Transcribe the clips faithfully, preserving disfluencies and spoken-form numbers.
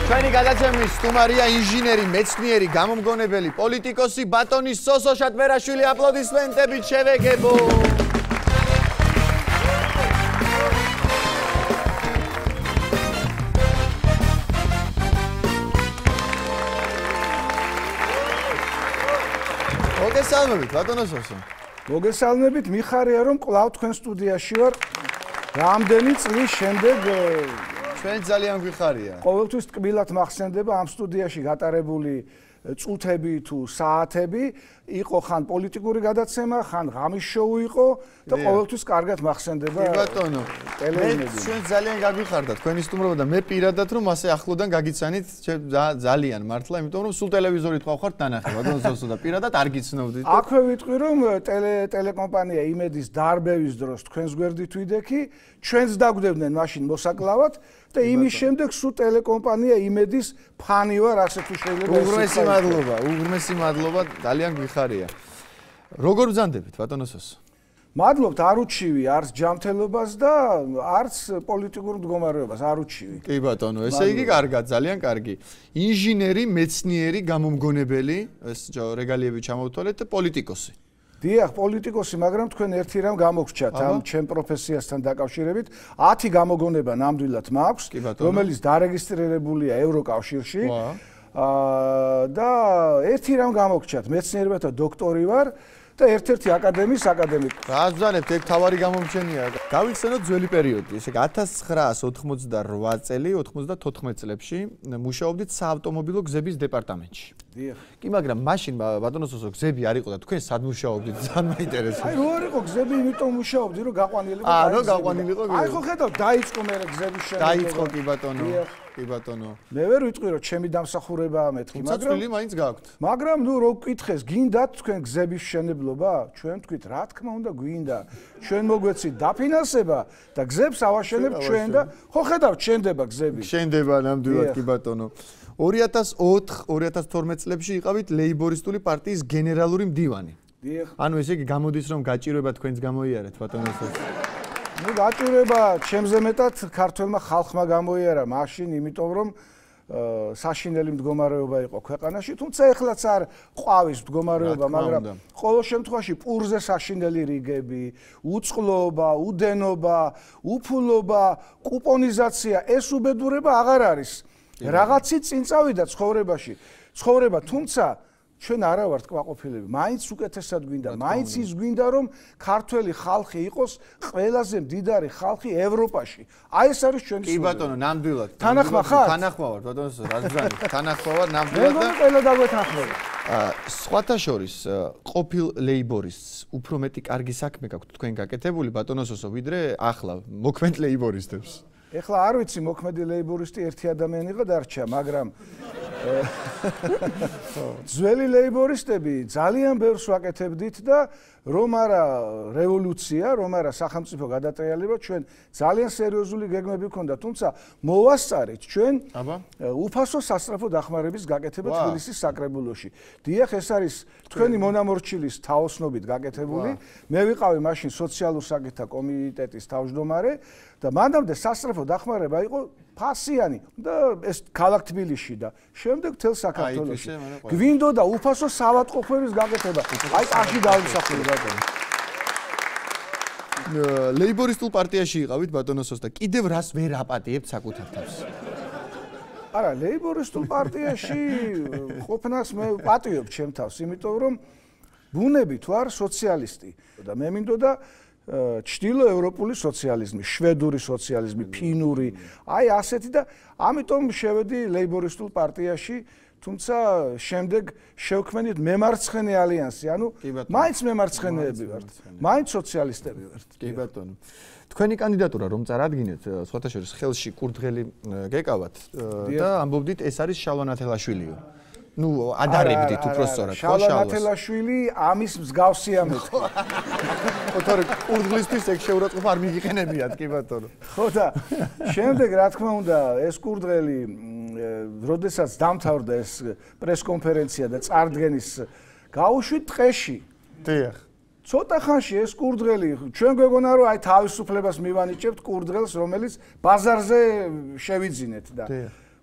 ჩვენი გადაცემის სტუმარია ინჟინერი, მეცნიერი, გამომგონებელი, პოლიტიკოსი ბატონი სოსო შატბერაშვილი. აპლოდისმენტებით შევეგებო. მოგესალმებით ბატონო სოსო. მოგესალმებით, მიხარია რომ კვლავ თქვენ სტუდიაში ვარ. რამდენი წლის შემდეგ ჩვენ ძალიან გვიხარია. ყოველთვის ტკბილად მახსენდება ამ სტუდიაში გატარებული წუთები თუ საათები, იყო ხან პოლიტიკური გადაცემა, ხან ღამის შოუ იყო და ყოველთვის კარგად მახსენდება. კი ბატონო. ტელევიზიაზე. ჩვენ ძალიან გაგვიხარდა თქვენი სტუმრობა და მე პირადად რომ ასე ახლოდან გაგიცანით ძალიან მართლა, იმიტომ რომ სულ ტელევიზორით ყავხართ დანახე ბატონო სოსო და პირადად არ გიცნობდით. აქვე ვიტყვი რომ ტელე ტელეკომპანია იმედის დარბევის დროს თქვენს გვერდით ვიდექი, ჩვენს დაგვდევდნენ მაშინ მოსაკლავად და იმის შემდეგ სულ ტელეკომპანია იმედის ფანი ვარ, ასე თუ შეიძლება. უღრმესი მადლობა, უღრმესი მადლობა, ძალიან გვიხარია. როგორ ბრძანდებით ბატონო სოსო? მადლობთ, არ უჩივი არც ჯანმრთელობას და არც პოლიტიკურ მდგომარეობას, არ უჩივი. კი ბატონო, ესე იგი კარგად, ძალიან კარგი. ინჟინერი, მეცნიერი, გამომგონებელი, ეს რეგალიები ჩამოვთვალეთ და პოლიტიკოსი. დიახ, პოლიტიკოსი, მაგრამ თქვენ ერთი რამ გამოგრჩათ ამ ჩემ პროფესიასთან დაკავშირებით. ათი გამოგონება ნამდვილად მაქვს, რომელიც დარეგისტრირებულია ევროკავშირში. აა და ერთი რამ გამოგრჩათ, მეცნიერებათა დოქტორი ვარ. და ერთ-ერთი აკადემიის აკადემიკი. რა ზანებთ, ეგ თავარი გამომჩენია. გავიხსენოთ ძველი პერიოდი, ესე იგი ათას ცხრაას ოცდაოთხმოცდარვა წელი, ოცდათოთხმეტ წლებში მუშაობდით საავტომობილო გზების დეპარტამენტში. დიახ. კი, მაგრამ მაშინ ბატონო სოსო გზები არ იყო და თქვენ სად მუშაობდით? ძალიან მაინტერესებს. აი, რო არ იყო გზები, იმიტომ მუშაობდი, რომ გაყვანილიყო. აა, რომ გაყვანილიყო. აი, ხო ხედავ, დაიწყო მე გზების შექმნა. დაიწყო კი ბატონო. კი ბატონო. მე ვერ ვიტყვი რომ ჩემი დამსახურებაა მეთქი, მაგრამ წილი მაინც გაქვთ. მაგრამ ნუ რო გკითხეს, გინდათ თქვენ გზების მშენებლობა? ჩვენ თქვით, რა თქმა უნდა, გვინდა. ჩვენ მოგვეცით დაფინანსება და გზებს ავაშენებთ ჩვენ და ხო ხედავთ, შენდება გზები. შენდება ნამდვილად კი ბატონო. ორი ათას ოთხ ორი ათას თორმეტ წლებში იყავით ლეიბორისტული პარტიის გენერალური მდივანი. დიახ. ანუ ესე იგი გამოდის რომ გაჭირვება თქვენს გამოიარეთ ბატონო სოსო. ნუ გაჭირვება ჩემზე მეტად ქართველმა ხალხმა გამოიარა მაშინ, იმიტომ რომ საშინელი მდგომარეობა იყო ქვეყანაში, თუმცა ეხლაც არ ყვავის მდგომარეობა, მაგრამ ყოველ შემთხვევაში პურზე საშინელი რიგები, უწყლობა, უდენობა, უფულობა, კუპონიზაცია, ეს უბედურება აღარ არის. რაღაცით წინ წავიდა ცხოვრებაში. ცხოვრება, თუმცა ჩვენ არა ვართ კმაყოფილები. მაინც უკეთესად გვინდა, მაინც ის გვინდა რომ ქართველი ხალხი იყოს ყველაზე მდიდარი ხალხი ევროპაში. აი ეს არის ჩვენი სურვილი. კი ბატონო, ნამდვილად. თანახმა ხარ? თანახმა ვარ ბატონო, რა ზანით? თანახმა ვარ ნამდვილად და მე ყველა დაგვეთანხმება. სხვათა შორის ყოფილ ლეიბორისტს უფრო მეტი კარგი საქმე გაქვთ თქვენ გაკეთებული ბატონო სოსო, ვიდრე ახლა მოქმედ ლეიბორისტებს. ეხლა არ ვიცი მოქმედი ლეიბორისტი ერთი ადამიანი იყო დარჩა, მაგრამ ძველი ლეიბორისტები ძალიან ბევრს ვაკეთებდით და რომ არა რევოლუცია, რომ არა სახელმწიფო გადატრიალება, ჩვენ ძალიან სერიოზული გეგმები გქონდა, თუმცა მოვასწარეთ ჩვენ უფასო სასწრაფო დახმარების გაკეთება თბილისის საკრებულოში. დიახ, ეს არის თქვენი მონამორჩილის თაოსნობით გაკეთებული. მე ვიყავი მაშინ სოციალურ საკითხთა კომიტეტის თავმჯდომარე და მანამდე სასწრაფო დახმარება იყო ფასიანი და ეს ქალაქ თბილისში და შემდეგ მთელ საქართველოში. გვინდოდა უფასო საავადმყოფოების გაკეთება. აი ტაში დავისახული ბატონო. ლეიბორისტულ პარტიაში იყავით ბატონო სოსო და კიდევ რას ვერ აპატიებთ საკუთარ თავს? არა, ლეიბორისტულ პარტიაში ყოფნას მე პატიობ ჩემ თავს, იმიტომ რომ ბუნებით ვარ სოციალისტი და მე მინდოდა ჩრდილოევროპული სოციალიზმი, შვედური სოციალიზმი, ფინური, აი ასეთი და ამიტომ შევედი ლეიბორისტულ პარტიაში, თუმცა შემდეგ შევქმნით მემარცხენე ალიანსი, ანუ მაინც მემარცხენეები ვართ, მაინც სოციალისტები ვართ. კი ბატონო. თქვენი კანდიდატურა რომ წარადგინეთ, სხვათა შორის ხელში კურდღელი გეკავათ და ამბობდით ეს არის შალვა ნათელაშვილიო. ნუ ადარებდით უფრო სწორად, ხო შალვას. შალვა ნათელაშვილი ამის მსგავსია მეთქი. ხო თორე კურდღლისთვის ეგ შეურაცხყოფა არ მიგიყენებიათ კი ბატონო. ხო და შემდეგ რა თქმა უნდა ეს კურდღელი როდესაც დამთავრდა ეს პრესკონფერენცია და წარდგენის გაუშვით ტყეში. დიახ. ცოტა ხანში ეს კურდღელი ჩვენ გვეგონა რომ აი თავისუფლებას მივანიჭებთ კურდღელს რომელიც ბაზარზე შევიძინეთ და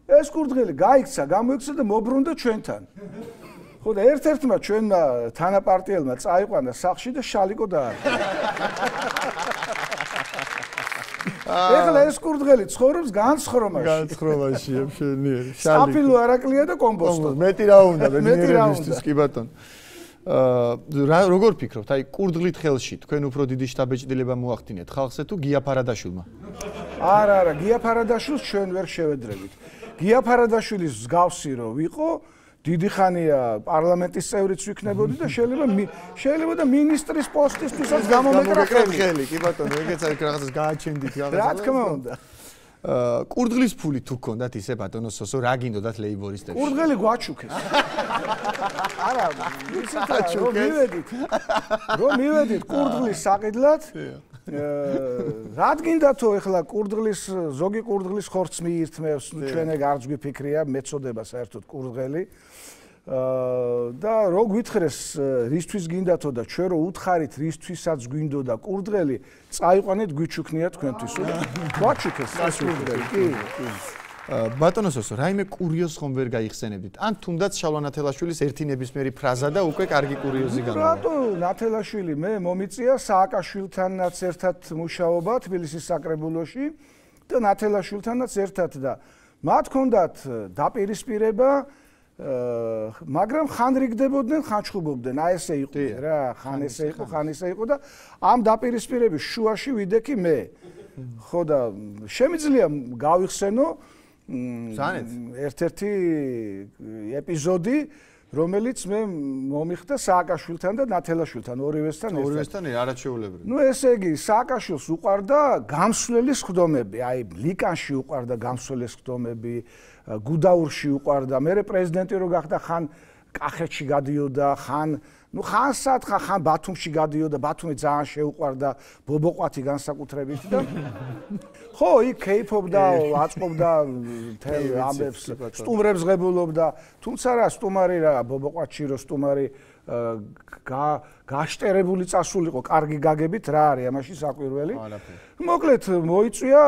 ეს კურდღელი გაიქცა, გამოიქცა და მობრუნდა ჩვენთან. ხო და ერთ-ერთმა ჩვენმა თანაპარტიელმა წაიყვანა სახლში და შალიკო დაარქვა. ეხლა ეს კურდღელი ცხოვრობს განცხრომაში. განცხრომაში, ემშენიერი. საფილო არაკლია და კომპოსტო. მეტი რა უნდა ბედნიერებისთვის, კი ბატონო. აა როგორ ფიქრობთ, აი კურდღლით ხელში თქვენ უფრო დიდი შტაბეჭდილება მოახდინეთ ხალხზე თუ გია ფარადაშვილმა? არა, არა, გია ფარადაშვილს ჩვენ ვერ შევედრებით. გია ფარადაშვილის მსგავსი რო ვიყო, დიდი ხანია პარლამენტის წევრიც ვიქნებოდი და შეიძლება შეიძლება და მინისტრის პოსტისთვისაც გამომეკრა ხელი, კი ბატონო, ეგეც არის რაღაცას გააჩენდით რაღაცა. რა თქმა უნდა. აა კურდღლის ფული თუ გქონდათ ისე ბატონო სოსო, რა გინდოდათ ლეიბორისტებში? კურდღელი გვაჩუქეს. არა, რომ მივედით. რომ მივედით კურდღლის საყიდლად. რადგინდათო ეხლა კურდღლის ზოგი კურდღლის ხორცს მიირთმევს, ჩვენ ეგ არც გვიფიქრია, მეწოდება საერთოდ კურდღელი. და რო გვითხრეს რისთვის გინდათო და ჩვენ რო უთხარით რისთვისაც გვინდოდა კურდღელი, წაიყვანეთ გვიჩუქნია თქვენთვის. გვაჩუქეს ეს კურდღელი, კი, კი. ბატონო სოსო, რაიმე კურიოზს ხომ ვერ გაიხსენებდით? ან თუნდაც შალვა ნათელაშვილის ერთი ნებისმიერი ფრაზა და უკვე კარგი კურიოზი გამოვა. რატო ნათელაშვილი მე მომიწია სააკაშვილთანაც ერთად მუშაობა თბილისის საკრებულოში და ნათელაშვილთანაც ერთად და მათ ჰქონდათ დაპირისპირება, მაგრამ ხან რიგდებოდნენ, ხან ჩხუბობდნენ, აი ესე იყო რა, ხან ესე იყო, ხან ესე იყო და ამ დაპირისპირების შუაში ვიდექი მე. ხო და შემიძლია გავიხსენო ერთ-ერთი ეპიზოდი, რომელიც მე მომიხდა სააკაშვილთან და ნათელაშვილთან, ორივესთან ერთად. ორივესთან არაჩვეულებრივი. ნუ ესე იგი, სააკაშვილს უყვარდა გამსვლელი ხდომები, აი ლიკანში უყვარდა გამსვლელი ხდომები, გუდაურში უყვარდა, მერე პრეზიდენტი რო გახდა ხან კახეთში გადიოდა, ხან ნუ ხანსად ხან ბათუმში გადიოდა, ბათუმი ძალიან შეუყვარდა ბობოყვათი განსაკუთრებით და ხო, იქ კეიფობდა, აწყობდა თელ ამბებს, სტუმრებს ღებულობდა, თუმცა რა სტუმარი რა ბობოყვათში რო სტუმარი გაშტერებული წასულიყო, კარგი გაგებით რა არის ამაში საკვირველი. მოკლედ მოიწვია,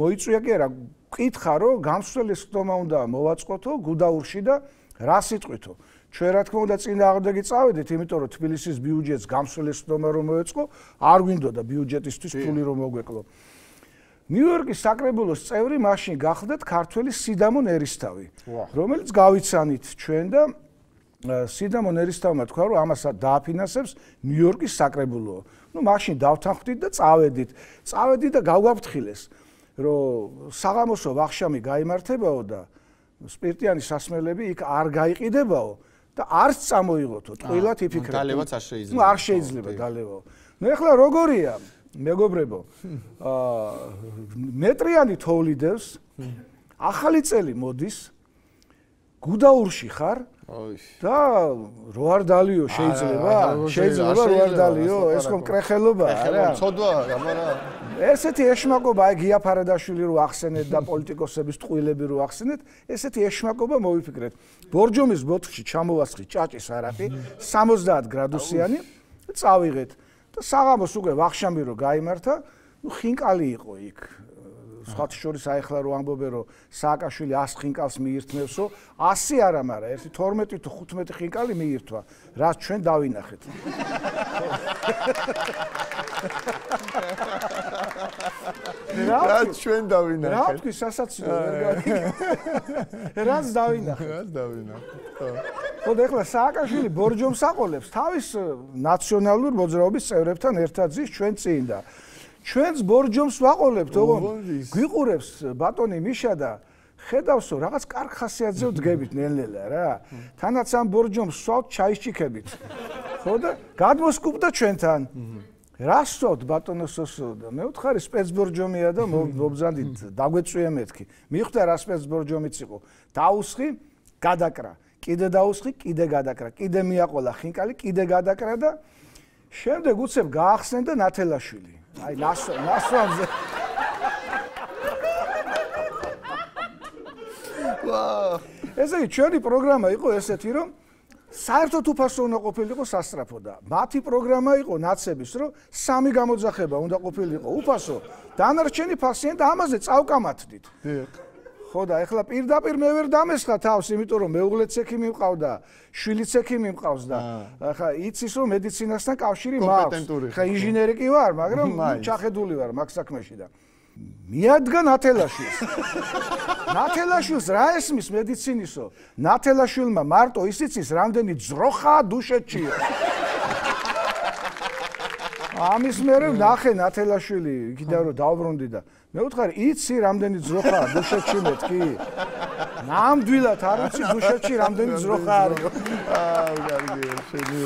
მოიწვია კი არა, კითხა რომ გამსვლელი ხდომა უნდა მოვაწყოთო გუდაურში და რა სიტყვითო. ჩვენ რა თქმა უნდა წინააღმდეგი წავედით, იმიტომ რომ თბილისის ბიუჯეტს გამსვლელი ხდომა რომ მოეწყო, არ გვინდოდა ბიუჯეტისთვის ფული რომ მოგვეკლო. ნიუ-იორკის საკრებულოს წევრი მაშინ გახდათ ქართველი სიდამონ ერისთავი, რომელიც გავიცანით ჩვენ და სიდამონ ერისთავმა თქვა რომ ამასაც დააფინანსებს ნიუ-იორკის საკრებულო. ნუ მაშინ დავთანხმდით და წავედით. წავედით და გავგვაფრთხილეს, რომ საღამოსო ვახშამი გაიმართებაო და სპირტიანი სასმელები იქ არ გაიყიდებაო და არც წამოიღოთო, ტყილად იფიქრეთ. დალევაც არ შეიძლება. ნუ არ შეიძლება დალევაო. ნუ ეხლა როგორია, მეგობრებო, აა მეტრიანი თოვლიდევს, ახალი წელი მოდის, გუდაურში ხარ და რო არ დალიო შეიძლება, შეიძლება რო არ დალიო, ეს ხომ კრეხელობაა რა. ცოდვა, გამარა. ესეთი ეშმაკობა, აი გია ფარადაშვილი რო ახსენეთ და პოლიტიკოსების ტყუილები რო ახსენეთ, ესეთი ეშმაკობა მოვიფიქრეთ. ბორჯომის ბოთლში ჩამოვასხით ჭაჭის არაყი, სამოცდაათ გრადუსიანი და წავიღეთ. და საღამოს უკვე ვახშამი რო გაიმართა, ნუ ხინკალი იყო იქ. სხვათა შორის აიხლა რო ამბობენ რომ სააკაშვილი ას ხინკალს მიირთმევსო, ასი არა, მაგრამ ერთი თორმეტი თუ ხუთმეტი ხინკალი მიირთვა, რაც ჩვენ დავინახეთ. რაც ჩვენ დავინახეთ. რა თქვი სასაცილო ვერ გავიგე. რაც დავინახეთ. რაც დავინახეთ. ხო და ეხლა სააკაშვილი ბორჯომს აყოლებს თავის ნაციონალურ მოძრაობის წევრებთან ერთად ზის ჩვენ წინ და ჩვენს ბორჯომს ვაყოლებთ, ოღონდ გვიყურებს ბატონი მიშა და ხედავსო რაღაც კარგ ხასიათზე ვდგებით ნელ-ნელა რა. თანაც ამ ბორჯომს სვავთ ჩაისჭიქებით. ხო და გადმოსკუბდა ჩვენთან. რა სწოთ ბატონო სოსო და მე ვთხარი სპეცბორჯომია და მობზანდით დაგვეწვია მეთქი. მიხვდა რა სპეცბორჯომიც იყო. დაუსხი, გადაკრა. კიდე დაუსხი, კიდე გადაკრა. კიდე მიაყოლა ხინკალი, კიდე გადაკრა და შემდეგ უცებ გაახსენდა ნათელაშვილი. აი ნასო ნასოზე ვა ესე იგი ჩვენი პროგრამა იყო ესეთი რომ საერთოდ უფასო უნდა ყოფილიყო სასწრაფო და მათი პროგრამა იყო ნაცების რომ სამი გამოძახება უნდა ყოფილიყო უფასო დანარჩენი ფასიანი და ამაზე წავკამათდით ხო და ეხლა პირდაპირ მე ვერ დამესხა თავს, იმიტომ რომ მეუღლეც ექიმი მყავდა, შვილიც ექიმი მყავს და ახლა იცის რომ მედიცინასთან კავშირი მაქვს. ხა ინჟინერი კი ვარ, მაგრამ ჩახედული ვარ მაგ საქმეში და მიადგა ნათელაშვილს. ნათელაშვილს რა ესმის მედიცინისო? ნათელაშვილმა მარტო ისიც რამდენი ძროხაა დუშეთშიო. ამის მერე ნახე ნათელაშვილი იქიდან რომ დავბრუნდი და მე ვუთხარი იცი რამდენი ძროხაა დუშეთში მეთქი? ნამდვილად არ ვიცი დუშეთში რამდენი ძროხა არის. აა კარგია შენი.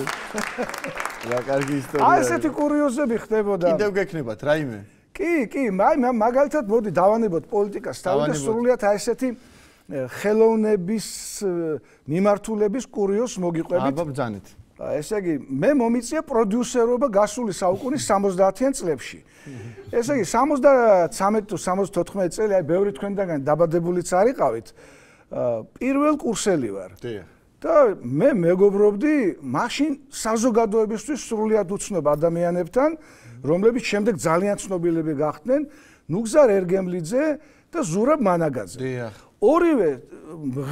რა კარგი ისტორია. აი ესეთი კურიოზები ხდებოდა. კიდევ გექნებათ რაიმე? კი, კი, აი მაგალითად მოდი დავანებოთ პოლიტიკას თავი და სრულიად აი ესეთი ხელოვნების მიმართულების კურიოზს მოგიყვებით. აბა ბძანეთ. ესე იგი, მე მომიწია პროდიუსერობა გასული საუკუნის სამოცდაათიან წლებში. ესე იგი, სამოცდათრამეტი თუ სამოცდათოთხმეტი წელი, აი ბევრი თქვენგან დაბადებულიც არიყავით. პირველ კურსელი ვარ. და მე მეგობრობდი მაშინ საზოგადოებისთვის სრულიად უცნობ ადამიანებთან, რომლებიც შემდეგ ძალიან ცნობილები გახდნენ, ნუგზარ ერგემლიძე და ზურაბ მანაგაძე. დიახ. ორივე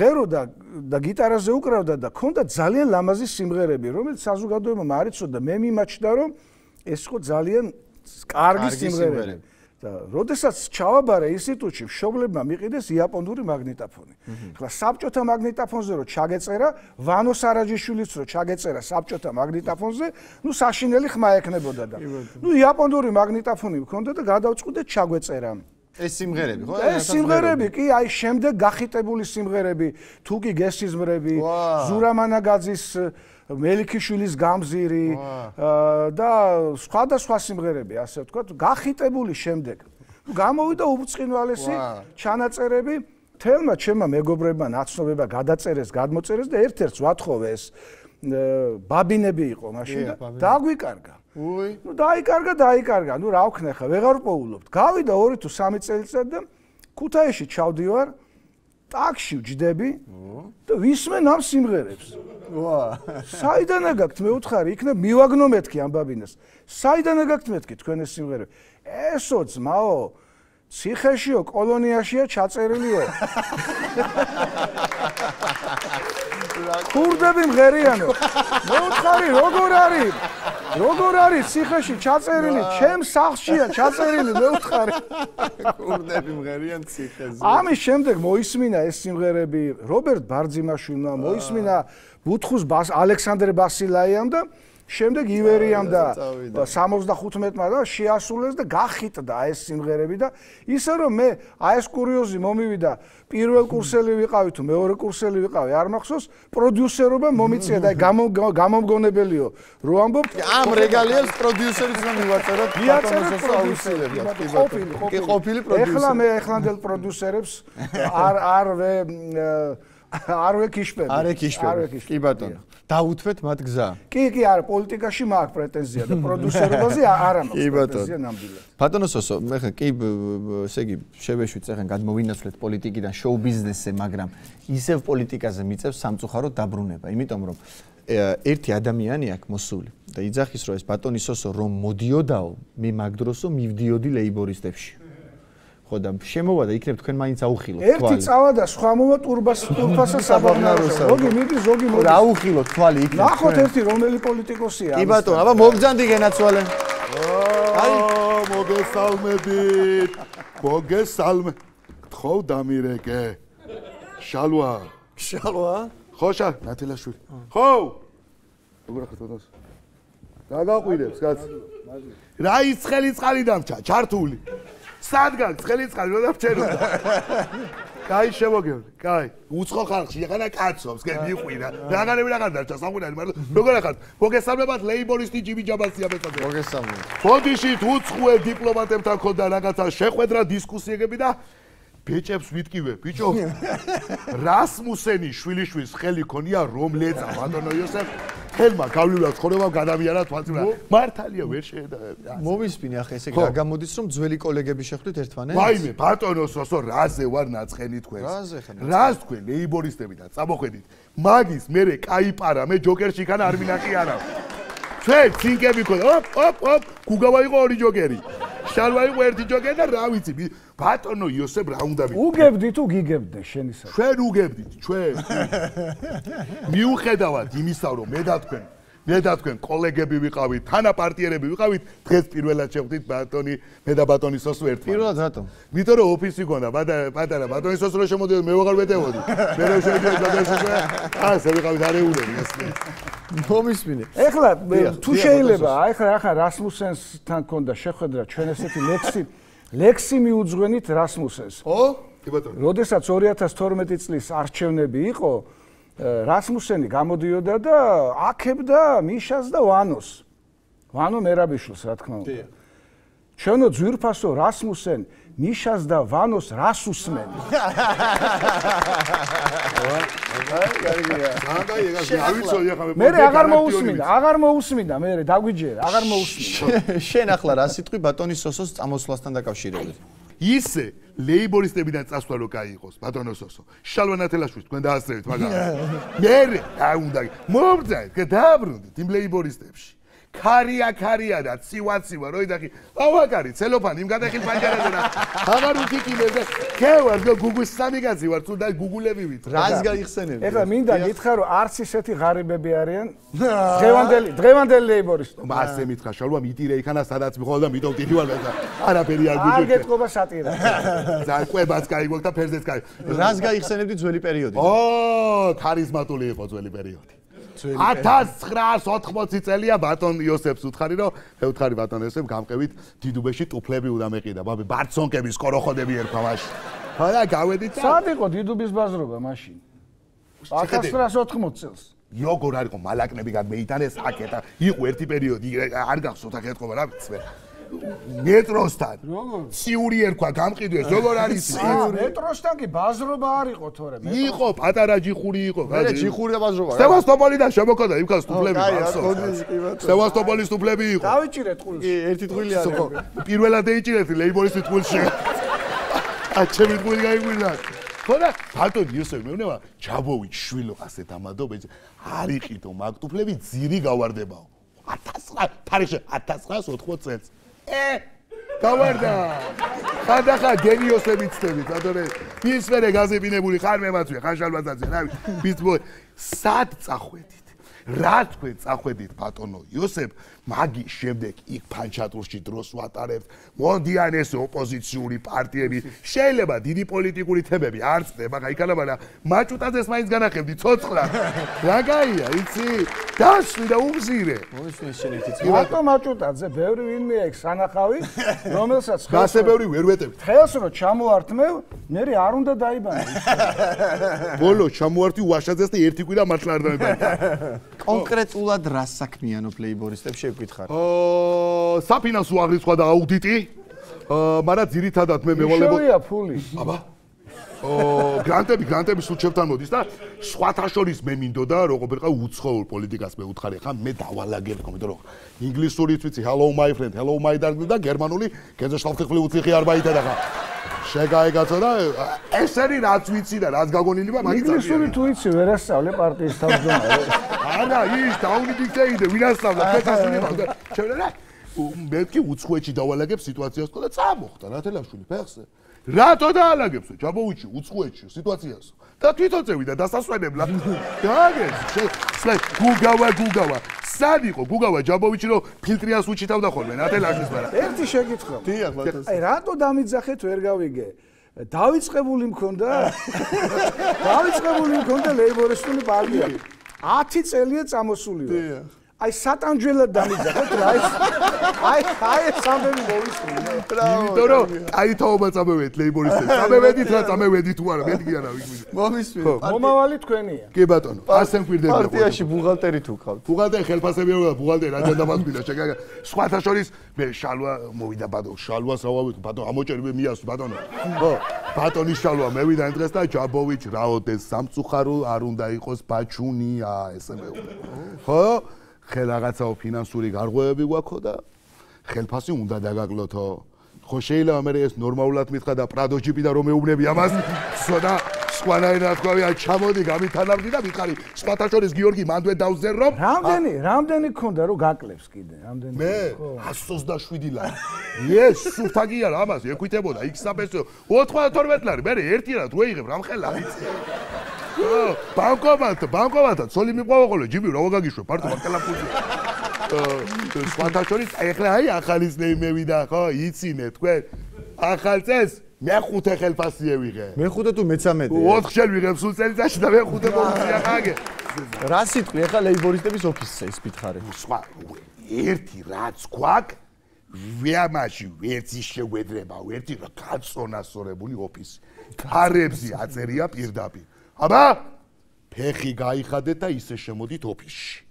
ღეროდა და გიტარაზე უკრავდა და ქონდა ძალიან ლამაზი სიმღერები, რომელიც საზოგადოებამ არ იცოდა, მე მიმაჩნდა რომ ეს იყო ძალიან კარგი სიმღერები. და როდესაც ჩავაბარე ინსტიტუტში, მშობლებმა მიყიდეს იაპონური მაგნიტოფონი. ახლა საბჭოთა მაგნიტოფონზე რო ჩაგეწერა, ვანო სარაჯიშვილიც რო ჩაგეწერა საბჭოთა მაგნიტოფონზე, ნუ საშინელი ხმა ექნებოდა და. ნუ იაპონური მაგნიტოფონი მქონდა და გადავწყვიტე ჩაგვეწერა. ეს სიმღერები ხო? ეს სიმღერები კი, აი შემდეგ გახიტებული სიმღერები, თუკი გესიზმრები, ზურამანაგაძის მელიქიშვილის გამზირი და სხვადასხვა სიმღერები, ასე ვთქვათ, გახიტებული შემდეგ. გამოვიდა უბრწყინვალესი ჩანაწერები, თელმა ჩემმა მეგობრებმა ნაცნობება გადაწერეს, გადმოწერეს და ერთ-ერთს ვათხოვე ეს ბაბინები იყო მაშინ და დაგვიკარგა. უი. ნუ დაიკარგა, დაიკარგა. ნუ რა ვქნა ხა, ვეღარ პოულობთ. გავიდა ორი თუ სამი წელიწად და ქუთაისში ჩავდივარ, ტაქსში ვჯდები და ვისმენ ამ სიმღერებს. ვა. საიდან აგაქვთ მე ვუთხარი, იქნებ მივაგნო მეთქი ამ ბაბინას. საიდან აგაქვთ მეთქი თქვენ ეს სიმღერები? ესო ძმაო, ციხეშიო, კოლონიაშია ჩაწერილიო. ქურდები მღერიანო. მე ვუთხარი, როგორ არის? როგორ არის ციხეში ჩაწერილი? ჩემ სახლშია ჩაწერილი, მე ვუთხარი. ქურდები მღერიან ციხეზე. ამის შემდეგ მოისმინა ეს სიმღერები რობერტ ბარძიმაშვილმა, მოისმინა ბუთხუს ალექსანდრე ბასილაიამ და შემდეგ ივერიამ და სამოცდახუთმეტმა და შეასრულეს და გახიტდა ეს სიმღერები და ისე რომ მე აი ეს კურიოზი მომივიდა, პირველ კურსელი ვიყავი თუ მეორე კურსელი ვიყავი, არ მახსოვს, პროდიუსერობა მომიწია და გამომგონებელიო. რო ამბობ, ამ რეგალიებს პროდიუსერიც რომ მივაწეროთ, მიაწეროთ პროდიუსერებს. ყოფილი, კი ყოფილი პროდიუსერი. ეხლა მე ეხლანდელ პროდიუსერებს არ არ ვე არ ვეკიშპები. არ ეკიშპები. კი ბატონო. დაუთვეთ მათ გზა. კი, კი, არა, პოლიტიკაში მაქვს პრეტენზია და პროდიუსერობაზე არ მაქვს პრეტენზია ნამდვილად. ბატონო სოსო, მე ხა კი ესე იგი შევეშვით ეხლა გადმოვინაცვლეთ პოლიტიკიდან შოუ ბიზნესზე, მაგრამ ისევ პოლიტიკაზე მიწევს სამწუხაროდ დაბრუნება, იმიტომ რომ ერთი ადამიანი აქვს მოსული და იძახის რომ ეს ბატონი სოსო რომ მოდიოდაო, მე მაგ დროსო მივდიოდი ლეიბორისტებში. ხო და შემოვა და იქნებ თქვენ მაინც აუხილოთ თვალი. ერთი წავა და სხვა მოვა ტურბას ტურფასა საბაღნაროსა. ზოგი მიდის, ზოგი მოდის. რა აუხილოთ თვალი იქნებ. ნახოთ ერთი რომელი პოლიტიკოსია. კი ბატონო, აბა მოგძანდი გენაცვალე. აი, მოგესალმებით. მოგესალმე. თხოვ დამირეკე. შალვა. შალვა? ხო, შა, ნათელაშვილი. ხო. როგორ ხარ თვითონს? გაგაყვირებს, კაც. რა ის ხელი წყალი დამჭა, ჩართული. სადგან ხელი წყალი რა დამჭეროდა. კაი შემოგევლე, კაი. უცხო ხალხში ეხლა კაცობს, გე მიყვირა. რაღაცები რაღაც დარჩა, სამყურალი, მაგრამ როგორ ახალ? მოგესალმებათ ლეიბორისტი ჯიმი ჯაბასია მეწოდე. მოგესალმებით. ბოდიშით უცხოელ დიპლომატებთან ხონდა რაღაცა შეხვედრა, დისკუსიები და ბეჭებს ვიტკივე, ბიჭო. რასმუსენი შვილიშვილის ხელი ქონია რომ ლეწა, ბატონო იოსებ. ხელმა გავლილად ცხოვრებამ გადავიარა თვალწინა. მართალია ვერ შეედაება. მოვისმინე ახლა ესე გაგამოდის რომ ძველი კოლეგები შეხვდით ერთმანეთს? ვაიმე, ბატონო სოსო, რაზე ვარ ნაწყენი თქვენს? რაზე ხარ? რას თქვენ ლეიბორისტები და წამოხედით. მაგის მერე კაიპარა, მე ჯოკერში ხან არ მინახი არა. ჩვენ ცინკები ქონდა. ოპ, ოპ, ოპ, გუგავა იყო ორი ჯოკერი. შალვა იყო ერთი ჯოკერი და რა ვიცი ბატონო იოსებ რა უნდა ვიცი უგებდი თუ გიგებდე შენისა ჩვენ უგებდით ჩვენ მიუხედავად იმისა რომ მე და თქვენ მე და თქვენ კოლეგები ვიყავით თანაპარტიერები ვიყავით დღეს პირველად შევხვდით ბატონი მე და ბატონი სოსო ერთმანეთს პირველად რატომ იმიტომ რომ ოფისი გქონდა პატარა ბატონი სოსო რო შემოდიოდა მე ვეღარ ვეტევოდი მე რო შევიდოდი ბატონი ასე ვიყავით არეულები ასე მომისმინე ეხლა თუ შეიძლება აი ხა ახლა რასმუსენსთან ქონდა შეხვედრა ჩვენ ესეთი ლექსი ლექსი მიუძღვენით რასმუსენს ო კი ბატონო როდესაც ორი ათას თორმეტი წლის არჩევნები იყო რასმუსენი გამოდიოდა და აქებდა მიშას და ვანოს. ვანო მერაბიშვილს რა თქმა უნდა. ჩვენო ძვირფასო რასმუსენ მიშას და ვანოს რას უსმენ. მე აღარ მოусმინდა, აღარ მოусმინდა, მე დაგვიჯერა, აღარ მოусმინდა. შენ ახლა რა სიტყვი ბატონის სოსოს წამოსვლასთან დაკავშირებით? ისე ლეიბორისტებიდან წასვლა რო კაი იყოს ბატონო სოსო შალვა ნათელაშვილს თქვენ დაასწრებით მაგრამ მე რა უნდა მომბრძანეთ დააბრუნდით იმ ლეიბორისტებში ქარია ქარია და ცივა ცივა რო იდახი ავაკარი ცელოფანი იმ გადახილ პანჯარაზე და აღარ უთიკინებს და ქევარ გუგუს სამი კაცი ვარ თუ და გუგულები ვით რას გაიხსენებდი ეხლა მინდა გითხრა რომ არც ისეთი ღარიბები არიან დღევანდელი დღევანდელი ლეიბორისტები მასე მითხრა შალვა მიტირე იქანა სადაც მიყოლა და მიტომ ტიტი ვარ და არაფერი არ გიგვიქ არ გეტყობა სატირა ზარკვებაც კაი გვაქვს და ფერზეც კაი რას გაიხსენებდი ძველი პერიოდი ო ქარიზმატული იყო ძველი პერიოდი ათას ცხრაას ოთხმოცი წელია ბატონ იოსებს უთხარი რომ მე უთხარი ბატონ იოსებ გამყევით დიდუბეში ტუფლები უნდა მეყიდა ბაბე ბარცონკები სკოროხოდები ერქვა მაშინ ხო და გავედით სად იყო დიდუბის ბაზრობა მაშინ ათას ცხრაას ოთხმოცი წელს როგორ არ იყო მალაკნები გამეიტანეს აკეთა იყო ერთი პერიოდი არ გახსოვთ აქ ეთქობა რა ვიცი მეტროსთან ციური ერქვა გამყიდვეს როგორ არის მეტროსთან კი ბაზრობა არ იყო თორე იყო პატარა ჯიხური იყო მე ჯიხური და ბაზრობა სევასტოპოლიდან შემოქოდა იქ სტუფლები სევასტოპოლის სტუფლები იყო დავიჭირეთ ტყუილში კი ერთი ტყუილი არის პირველად ეიჭირეთ ლეიბორისტი ტყუილში აჩემი ტყუილი გაიგვირდა ხო და ბატონ იოსებ მეუბნება ჯაბოვი შვილო ასეთ ამადობ არ იყიდო მაგ ტუფლები ძირი გავარდებაო ათას თარიღში ათას ცხრაას ოთხმოცი წელს ე გავარდა ხანდახა გენიოსები ცდებით ბატონე ის მერე გაზებინებული ხარ მემაცვია ხარ შალვაძე რა ვიცი სად წახვედით რა თქვენ წახვედით ბატონო იოსებ მაგის შემდეგ იქ ფანჩატურში დროს ვატარებთ მონდიან ეს ოპოზიციური პარტიები შეიძლება დიდი პოლიტიკური თემები არ წდება მაგრამ იქანა მაგრამ მაჭუტაძეს მაინც განახებდი ცოცხლად რა გაია იცი დასვი და უმზირე მომისმენ შენ ერთი ბატონ მაჭუტაძე ბევრი ვინმე აქვს სანახავი რომელსაც გასე ბევრი ვერ ვეტევით ხელს რო ჩამოართმევ მე არ უნდა დაიბანო ბოლო ჩამოართი უაშაძეს და ერთი კვირა მართლა არ დაიბანე კონკრეტულად რა საქმიანობ ლეიბორისტებს შევკითხარ? აა საფინანსო აღრიცხვა და აუდიტი. აა მაგრამ ძირითადად მე მევალებო. შევია ფული. აბა. აა გრანტები, გრანტები სულ ჩემთან მოდის და სხვათა შორის მე მინდოდა როგორ ყავ უცხოურ პოლიტიკას მე უთხარი ხა მე დავალაგებ თქო იმიტომ რომ ინგლისურიც ვიცი hello my friend, hello my darling და გერმანული გეზეშალფიხლი უციხი არბაიტა და ხა შეგაიგაცო და ესენი რაც ვიცი და რაც გაგონილება მაგით ინგლისური თუ იცი ვერ ასწავლე პარტიის თავმჯდომარე არა ის დაუნიდიქტეიდე ვინ ასწავლა ფეთასული მაგ შევრა მე კი უცხოეთში დავალაგებ სიტუაციას და წამოხდა ნათელაშვილი ფეხზე რატო დაალაგებსო ჯაბოვიჩი უცხოეთში სიტუაციას და თვითონ წევიდა დასასვენებლად დააგეს სლე გუგავა გუგავა სად იყო გუგავა ჯაბოვიჩი რომ ფილტრიას უჩითავდა ხოლმე ნათელაშვილს მაგრამ ერთი შეკითხვა დიახ ბატონო აი რატო დამიძახეთ ვერ გავიგე დავიწყებული მქონდა დავიწყებული მქონდა ლეიბორისტული პარტია ათი წელია წამოსული ვარ აი სატანჯველად დამიძახეთ რა ეს აი აი სამბები მოვისმინე იმიტომ რომ აი თაობა წამევედით ლეიბორისტებს წამევედით რა წამევედით თუ არა მეთქი არა ვიგვი მომისმინე მომავალი თქვენია კი ბატონო ასე მკვირდება პარტიაში ბუღალტერი თუ ყავთ ბუღალტერი ხელფასები არა ბუღალტერი აჯანდა მასგვიდა შეგაგა სხვათა შორის მე შალვა მოვიდა ბატონო შალვას ავავით ბატონო ამოჭერი მე მიასვი ბატონო ხო ბატონის შალვა მე ვიდა იმ დღეს და ჯაბოვიჩ რაოდეს სამწუხარო არ უნდა იყოს ბაჩუნია ესე მეუბნება ხო ხელ რაღაცაო ფინანსური გარღვევები გვაქვს და ხელფასი უნდა დაგაკლოთო. ხო შეიძლება მე ეს ნორმალურად მითხრა და პრადო ჯიპი და რომ მეუბნები ამას, სოდა სხვანაირად თქვა, აი ჩამოდი გამithანავდი და მითხარი, სხვათა შორის გიორგი მანდვე დავზერ რომ რამდენი, რამდენი ქონდა რომ გაკლებს კიდე, რამდენი? მე εκατს ოცდაშვიდი ლარი. ეს სულთაგი არა, ამას ეკვითებოდა იქსაბესო ოთხმოცდათორმეტი ლარი, მე ერთი რად რო იღებ რამხელა იცი. ბანკომატ, ბანკომატად ცოლი მიყვავა ხოლმე, ჯიმი რა ვაგაგიშვებ, პარტო ბანკელაფუძი. სხვათა შორის ეხლა აი ახალის ნეიმე ვიდა, ხო, იცინე თქვენ. ახალ წელს მეხუთე ხელფასი ევიღე. მეხუთე თუ მეცამეტე? ოთხ შენ ვიღებ სულ წელიწადში და მეხუთე მომწია ხაგე. რა სიტყვი ახლა ლეიბორისტების ოფისზე ის მითხარი? სხვა ერთი რაც გვაქვს ვიამაში ვერცი შეგვედრება, ერთი რა გაწონასწორებული ოფისი. თარებზე აწერია პირდაპირ. აბა ფეხი გაიხადეთ და ისე შემოდით ოფისში.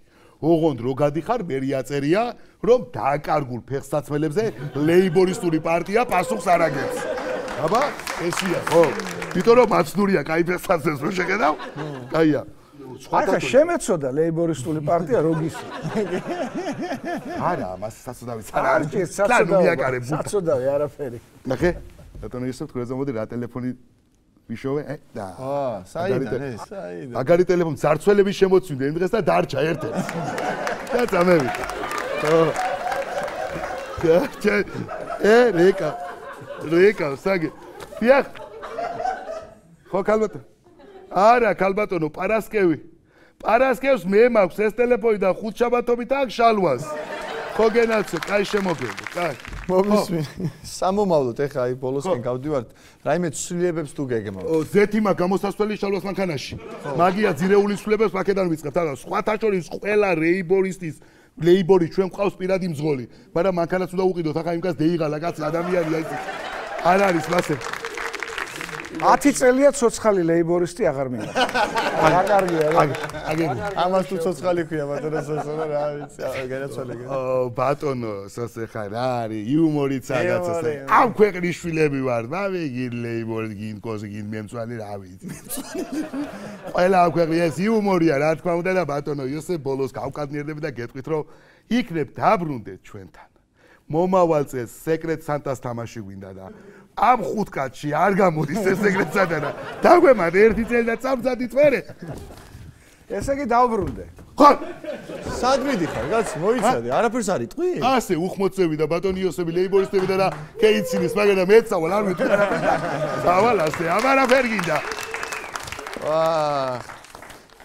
ოღონდ რო გადიხარ, მერი აწერია, რომ დაკარგულ ფეხსაცმელებზე ლეიბორისტული პარტია პასუხს არ აგებს. აბა, ესია, ხო. იმიტომ რომ მაცნურია კაი ფეხსაცმელს რო შეხედავ? კაია. ახლა შემეცოდა ლეიბორისტული პარტია როგისი. არა, მას საწოდავიც არ არის. საწოდავი, საწოდავი არაფერი. ნახე, რატომ ისე თქვენ ზამოდი რა ტელეფონი ვიშოვე? ე, და. აა, საიდან ეს? საიდან? აგარი ტელეფონი ძარცველები შემოწვინდა იმ დღეს და დარჩა ერთ-ერთი. და წამევიდა. ხო. და ე, რეკა. რეკა, საგე. დიახ. ხო, ქალბატონო. არა, ქალბატონო, პარასკევი. პარასკევს მე მაქვს ეს ტელეფონი და ხუთშაბათობით აქ შალვას. ხო გენაცო, კაი შემოგენდი, კაი. მომისმი. სამომავლოდ ეხა აი ბოლოსკენ გავდივართ. რაიმე ცვლილებებს თუ გეგმავთ. ო, ზეთი მაგ გამოსასვლელი შალვას მანქანაში. მაგია ძირეული ცვლილებებს აქედან ვიწყებთ. არა, სხვათა შორის ყველა რეიბორისტის ლეიბორი ჩვენ ყავს პირადი მძღოლი. მაგრამ მანქანას უნდა უყიდოთ, ახლა იმკაც დეიღალა კაცი ადამიანია ის. არ არის მასე. ათი წელია ცოცხალი ლეიბორისტი აღარ მინდა. რა კარგია, რა. აგერი. ამას თუ ცოცხალი ქვია ბატონო სოსო რა ვიცი, განაცვალე. ო, ბატონო სოსე ხარ, რა არის, იუმორიც რაღაცა. ამ ქვეყნის შვილები ვარ, მამე გინ ლეიბორი, გინ კოზი, გინ მემწვანი, რა ვიცი. ყველა ამ ქვეყნის ეს იუმორია, რა თქმა უნდა და ბატონო იოსებ ბოლოს გავკადნიერდები და გეტყვით, რომ იქნებ დაბრუნდეთ ჩვენთან. მომავალ წელს სეკრეტ სანტას თამაში გვინდა და ამ ხუთ კაცში არ გამოდის ეს სეკრეტ სანტა და დაგვემარ ერთი წელი და წამწადით მერე. ესე იგი დავბრუნდე. ხო, სად მიდიხარ, კაცი, მოიცადე, არაფერს არ იტყვი? ასე უხმოცები და ბატონი იოსები ლეიბორისტები და რა კეიცინის, მაგრამ მეცავალ არ ვიტყვი არაფერს. დავალ ასე, ამარაფერ გინდა. ვაა.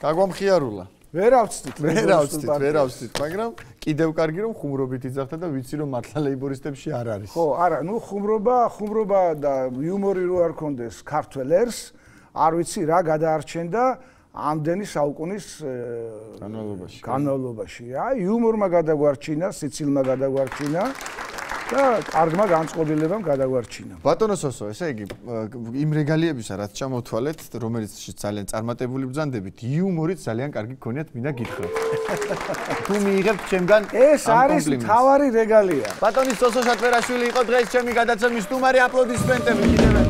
გაგვამხიარულა. ვერ ავწდით, ვერ ავწდით, ვერ ავწდით, მაგრამ კიდევ კარგი რომ ხუმრობით იძახდა და ვიცი რომ მართლა ლეიბორისტებში არ არის. ხო, არა, ნუ ხუმრობა, ხუმრობა და იუმორი რო არ კონდეს ქართველერს, არ ვიცი რა გადაარჩენდა ამდენი საუკუნის განმავლობაში. განმავლობაში. აი, იუმორმა გადაგვარჩინა, სიცილმა გადაგვარჩინა და კარგმა განწყობილებამ გადაგვარჩინა. ბატონო სოსო, ესე იგი, იმ რეგალიებისა, რაც ჩამოვთვალეთ, რომელიც ძალიან წარმატებული ბრძანდებით, იუმორით ძალიან კარგი გქონიათ, მინდა გითხრათ. თუ მიიღებთ ჩემგან ეს არის მთავარი რეგალია. ბატონი სოსო შატვერაშვილი იყო დღეს ჩემი გადაცემის სტუმარი, აპლოდისმენტები კიდევ